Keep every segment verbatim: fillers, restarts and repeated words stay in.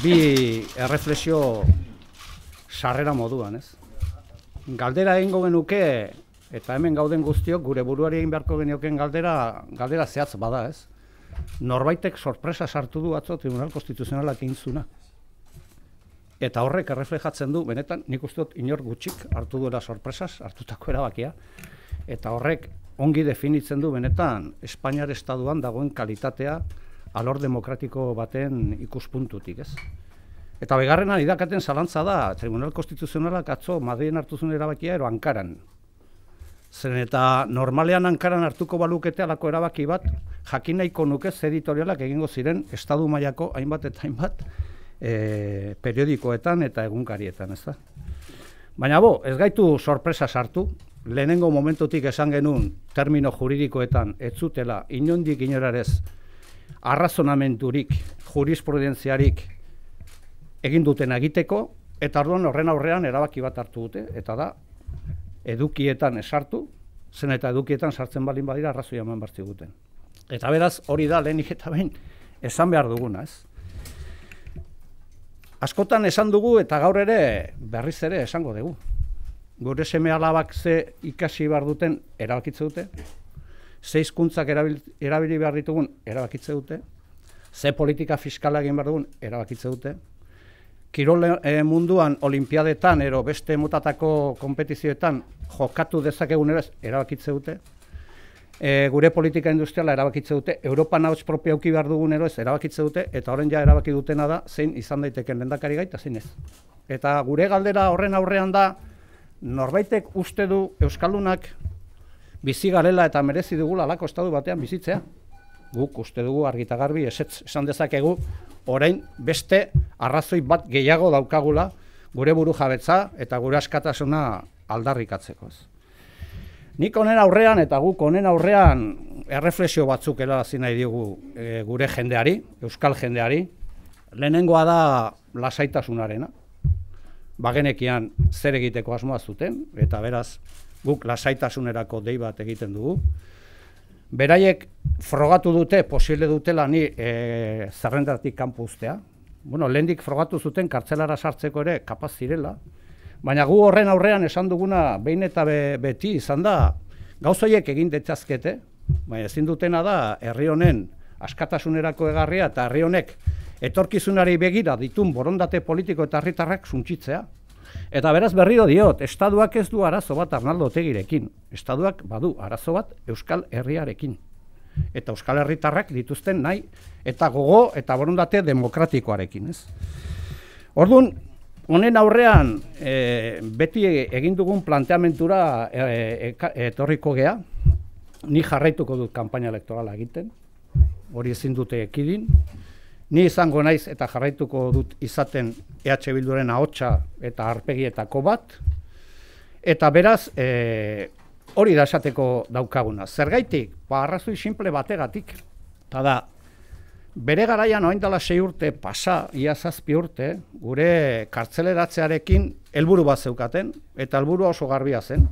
bi erreflexio sarrera moduan, ez? Galdera egingo genuke, eta hemen gauden guztiok, gure buruari egin beharko genioken galdera, galdera zehatz bada, ez? Norbaitek sorpresa sartu du atzo Tribunal Konstituzionalak egin zuna. Eta horrek erreflejatzen du, benetan, nik uste dut inor gutxik hartu duela sorpresaz, hartutako erabakia, eta horrek ongi definitzen du, benetan, Espainiar Estatuan dagoen kalitatea alor demokratiko baten ikuspuntutik, ez? Eta begarrena idakaten zalantza da, Tribunal Konstituzionalak atzo Madrilen hartu zuen erabakia, ero Ankaran. Zen eta normalean Ankaran hartuko balukete alako erabaki bat, jakin nahiko nuke ze editorialak egingo ziren Estatu mailako hainbat eta hainbat e, periodikoetan eta egunkarietan, ez da? Baina bo, ez gaitu sorpresa sartu, lehenengo momentutik esan genuen termino juridikoetan ez zutela inondik inorarez arrazonamenturik, jurisprudentziarik egin duten egiteko, eta orduan horren aurrean erabaki bat hartu dute, eta da, edukietan esartu, zen eta edukietan sartzen balin badira arrazoia eman bartzi guten. Eta beraz, hori da lehenik eta behin esan behar duguna, ez? Askotan esan dugu eta gaur ere berriz ere esango dugu. Gure seme alabak ze ikasi behar duten erabakitze dute, ze hizkuntzak erabili, erabili behar ditugun erabakitze dute, ze politika fiskala egin behar dugun erabakitze dute, kirol e, munduan olimpiadetan ero beste motatako konpetizioetan jokatu dezakegun ere erabakitze dute, e, gure politika industriala erabakitze dute, Europan ahots propio auki behar dugun ero ez erabakitze dute, eta horren ja erabaki dutena da zein izan daiteken lehendakari gaita zein ez. Eta gure galdera horren aurrean da, norbaitek uste du Euskaldunak bizi garela eta merezi dugula alako estatu batean bizitzea. Guk uste dugu argita garbi esetz esan dezakegu orain beste arrazoi bat gehiago daukagula gure buru jabetza eta gure askatasuna aldarrikatzeko. Nik honen aurrean eta guk honen aurrean erreflexio batzuk helarazi nahi diogu e, gure jendeari, euskal jendeari. Lehenengoa da lasaitasunarena. Bagenekian zer egiteko asmoa zuten, eta beraz guk lasaitasunerako dei bat egiten dugu. Beraiek frogatu dute, posible dutela ni e, zerrendatik kanpo uztea. Bueno, lehendik frogatu zuten kartzelara sartzeko ere kapaz zirela, baina gu horren aurrean esan duguna behin eta be, beti izan da gauzoiek egin ditzazkete, baina ezin dutena da herri honen askatasunerako egarria eta herri honek etorkizunari begira ditun borondate politiko eta herritarrak suntsitzea. Eta beraz berriro diot, Estatuak ez du arazo bat Arnaldo Otegirekin. Estatuak badu arazo bat Euskal Herriarekin. Eta Euskal Herritarrak dituzten nahi eta gogo eta borondate demokratikoarekin, ez? Orduan, honen aurrean e, beti egin dugun planteamentura e, e, etorriko gea, ni jarraituko dut kanpaina elektorala egiten, hori ezin dute ekidin. Ni izango naiz eta jarraituko dut izaten E H Bilduren ahotsa eta arpegietako bat, eta beraz e, hori da esateko daukaguna. Zergaitik? Ba, arrazoi simple bategatik. Eta da, bere garaian orain dela sei urte pasa, ia zazpi urte, gure kartzeleratzearekin helburu bat zeukaten, eta helburua oso garbia zen.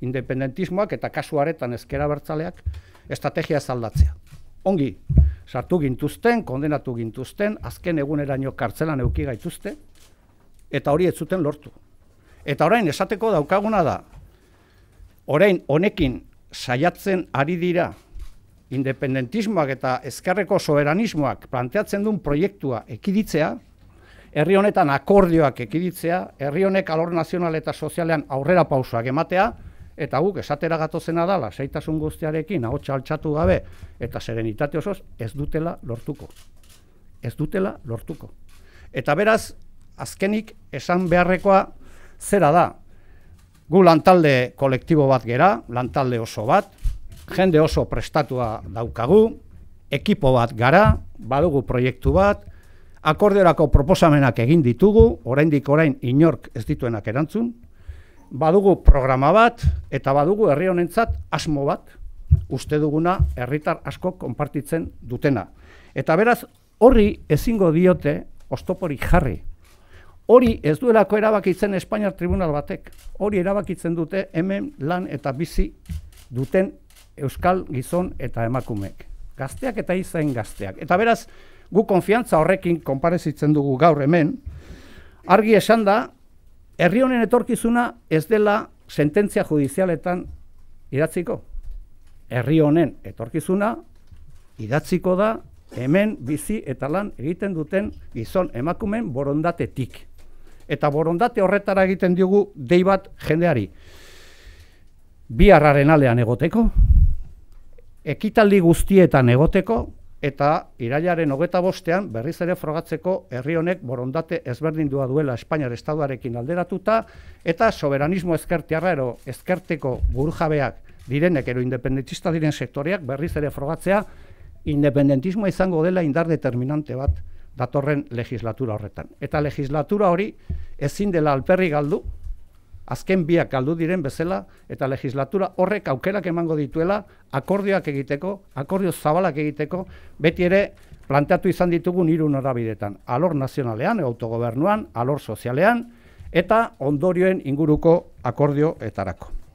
Independentismoak eta kasu haretan ezker abertzaleak estrategia ez aldatzea. Ongi, sartu gintuzten, kondenatu gintuzten, azken eguneraino kartzelan eduki gaituzte, eta hori ez zuten lortu. Eta orain esateko daukaguna da, orain honekin saiatzen ari dira independentismoak eta ezkerreko soberanismoak planteatzen duen proiektua ekiditzea, herri honetan akordioak ekiditzea, herri honek alor nazional eta sozialean aurrera pausoak ematea, eta guk esatera gatozena da, lasaitasun guztiarekin, ahotsa altxatu gabe, eta serenitate osoz, ez dutela lortuko. Ez dutela lortuko. Eta beraz, azkenik esan beharrekoa zera da. Gu lantalde kolektibo bat gera, lantalde oso bat, jende oso prestatua daukagu, ekipo bat gara, badugu proiektu bat, akordiorako proposamenak egin ditugu, oraindik orain inork ez dituenak erantzun, badugu programa bat, eta badugu herri honentzat asmo bat, uste duguna herritar asko konpartitzen dutena. Eta beraz, horri ezingo diote oztoporik jarri. Hori ez duelako erabakitzen Espainiar Tribunal batek. Hori erabakitzen dute hemen lan eta bizi duten euskal gizon eta emakumeek. Gazteak eta izain gazteak. Eta beraz, gu konfiantza horrekin konparezitzen dugu gaur hemen, argi esan da, herri honen etorkizuna ez dela sententzia judizialetan idatziko. Herri honen etorkizuna idatziko da hemen bizi eta lan egiten duten gizon emakumeen borondatetik. Eta borondate horretara egiten diogu dei bat jendeari. Biharraren aldean egoteko, ekitaldi guztietan egoteko, eta irailaren hogeita bostean berriz ere frogatzeko herri honek borondate ezberdindua duela Espainiar Estatuarekin alderatuta, eta soberanismo ezkertiarra ero ezkerteko burujabeak direnek ero independentista diren sektoreak berriz ere frogatzea, independentismoa izango dela indar determinante bat datorren legislatura horretan. Eta legislatura hori ezin dela alperri galdu, azken biak galdu diren bezala, eta legislatura horrek aukerak emango dituela akordioak egiteko, akordio zabalak egiteko, beti ere planteatu izan ditugun hiru norabidetan, alor nazionalean, autogobernuan, alor sozialean, eta ondorioen inguruko akordioetarako.